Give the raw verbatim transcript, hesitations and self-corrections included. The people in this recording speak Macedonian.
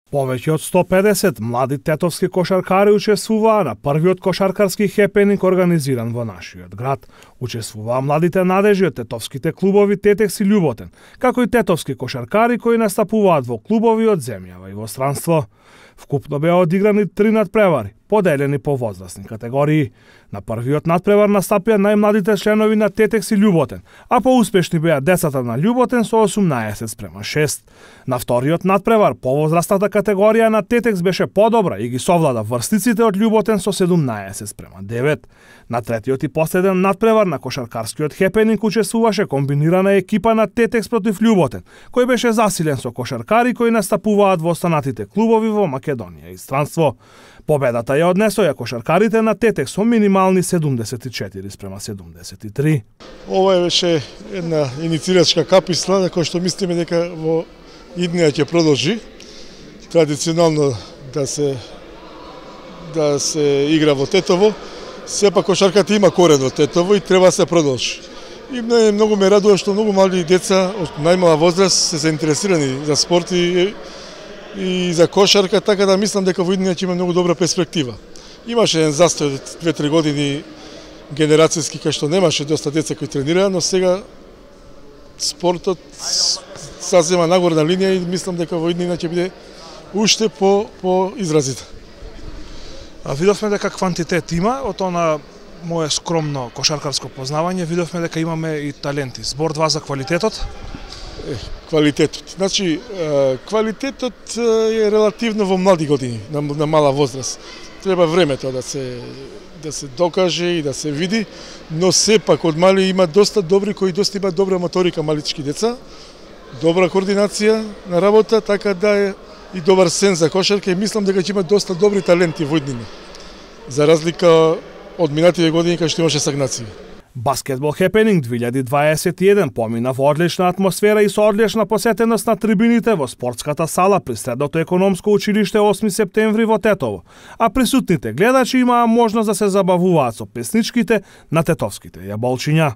Повеќе од сто педесет млади тетовски кошаркари учествуваа на првиот кошаркарски хепенинг организиран во нашиот град. Учествуваа младите надежи од тетовските клубови Тетекс и Љуботен, како и тетовски кошаркари кои настапуваат во клубови од земјава и во странство. Вкупно беа одиграни три надпревари, поделени по возрастни категории. На првиот надпревар настапија најмладите членови на Тетекс и Љуботен, а поуспешни беа децата на Љуботен со осумнаесет спрема шест. На вториот надпревар повозрастната категорија на Тетекс беше подобра и ги совлада врстниците од Љуботен со седумнаесет спрема девет. На третиот и последен надпревар на кошаркарскиот хепенинг учествуваше комбинирана екипа на Тетекс против Љуботен, кој беше засилен со кошаркари кои настапуваат во останатите клубови во Македонија и странство. Победата ја однесоја кошаркарите на Тетекс со минимални седумдесет и четири спрема седумдесет и три. Ова беше една инициирачка каписла на која што мислиме дека во иднија ќе продолжи традиционално да се да се игра во Тетово. Сепак кошарката има корен во Тетово и треба да се продолжи. И многу ме радува што многу млади деца од најмала возраст се заинтересирани за спорт и и за кошарка, така да мислам дека во иднина ќе има многу добра перспектива. Имаше еден застој од две-три години генерацијски кај што немаше доста деца кои тренираа, но сега спортот сазема нагорна линија и мислам дека во иднина ќе биде уште по по изразита. А видовме дека квантитет има, од она мое скромно кошаркарско познавање, видовме дека имаме и таленти. Збор два за квалитетот. Квалитетот. Значи, квалитетот е релативно во млади години, на, на мала возраст. Треба времето да се да се докаже и да се види, но сепак од мали има доста добри кои доста имаат добра моторика малички деца, добра координација на работа, така да е и добар сен за кошарка и мислам дека ќе има доста добри таленти во иднина. За разлика од минативе години кога што имаше стагнација. Баскетбол хепенинг две илјади дваесет и еден помина во одлична атмосфера и со одлична посетеност на трибините во спортската сала при Средното економско училиште осми септември во Тетово, а присутните гледачи имаа можност да се забавуваат со песничките на тетовските јаболчиња.